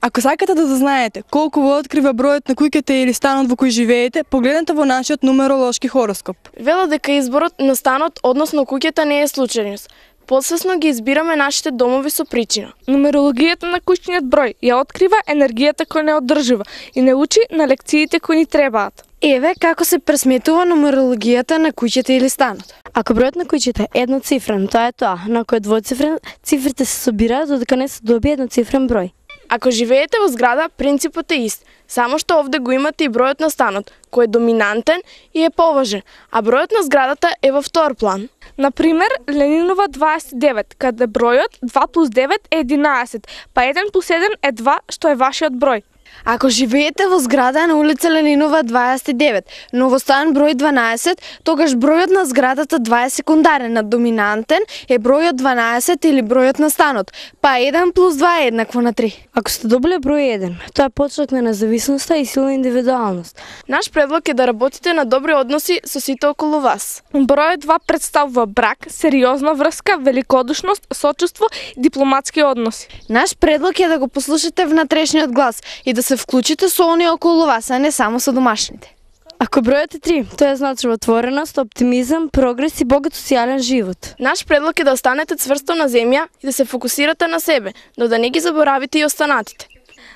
Ако сакате да дознаете колку во открива бројот на куќата или станот во кој живеете, погледнете во нашиот нумеролошки хороскоп. Велат дека изборот на станот, односно куќата, не е случајност. Подсвесно ги избираме нашите домови со причина. Нумерологијата на куќниот број ја открива енергијата која не одржува и не учи на лекциите кои ни требаат. Еве како се пресметува нумерологијата на куќата или станот. Ако бројот на куќата е едноцифрен, тоа е тоа, но ако е двоцифрен, цифрите се собираат додека не се добие едноцифрен број. Ако живеете во зграда, принципот е ист, само што овде го имате и бројот на станот, кој е доминантен и е поважен, а бројот на зградата е во втор план. Например, Ленинова 29, каде бројот 2 плюс 9 е 11, па 1 плюс 1 е 2, што е вашиот број. Ако живеете во зграда на улица Ленинова 29, но во стан број 12, тогаш бројот на зградата 2 е секундарен, а доминантен е бројот 12 или бројот на станот, па 1 плюс 2 е еднакво на 3. Ако сте добиле број 1, тоа е почеток на независноста и силна индивидуалност. Наш предлог е да работите на добри односи со сите околу вас. Бројот 2 представува брак, сериозна врска, великодушност, сочувство и дипломатски односи. Наш предлог е да го послушате внатрешниот глас и да се вклучите со оние околу вас, а не само со домашните. Ако бројот е 3, тоа значи отвореност, оптимизам, прогрес и богат социјален живот. Наш предлог е да останете цврсто на земја и да се фокусирате на себе, но да не ги заборавите и останатите.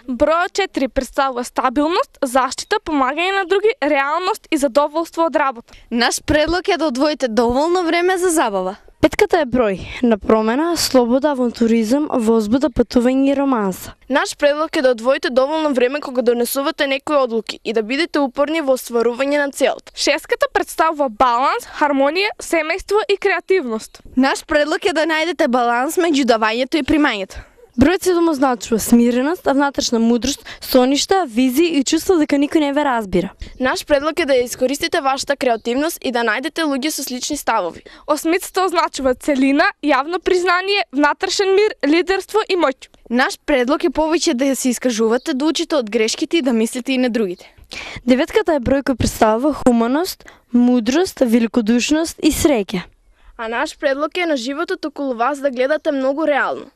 Бројот 4 представува стабилност, заштита, помагање на други, реалност и задоволство од работа. Наш предлог е да одвоите доволно време за забава. Петката е број на промена, слобода, авантуризам, возбуда, патување и романса. Наш предлог е да одвоите доволно време кога донесувате некои одлуки и да бидете упорни во остварување на целта. Шестката представува баланс, хармонија, семејство и креативност. Наш предлог е да најдете баланс меѓу давањето и примањето. Бројот 7 означува смиреност, внатрешна мудрост, соништа, визии и чувство дека никој не ве разбира. Наш предлог е да искористите вашата креативност и да најдете луѓе со слични ставови. Осмицата означува целина, јавно признание, внатрешен мир, лидерство и моќ. Наш предлог е повеќе да се искажувате, да учите од грешките и да мислите и на другите. Деветката е број кој представува хуманост, мудрост, великодушност и среќа. А наш предлог е на животот околу вас да гледате многу реално.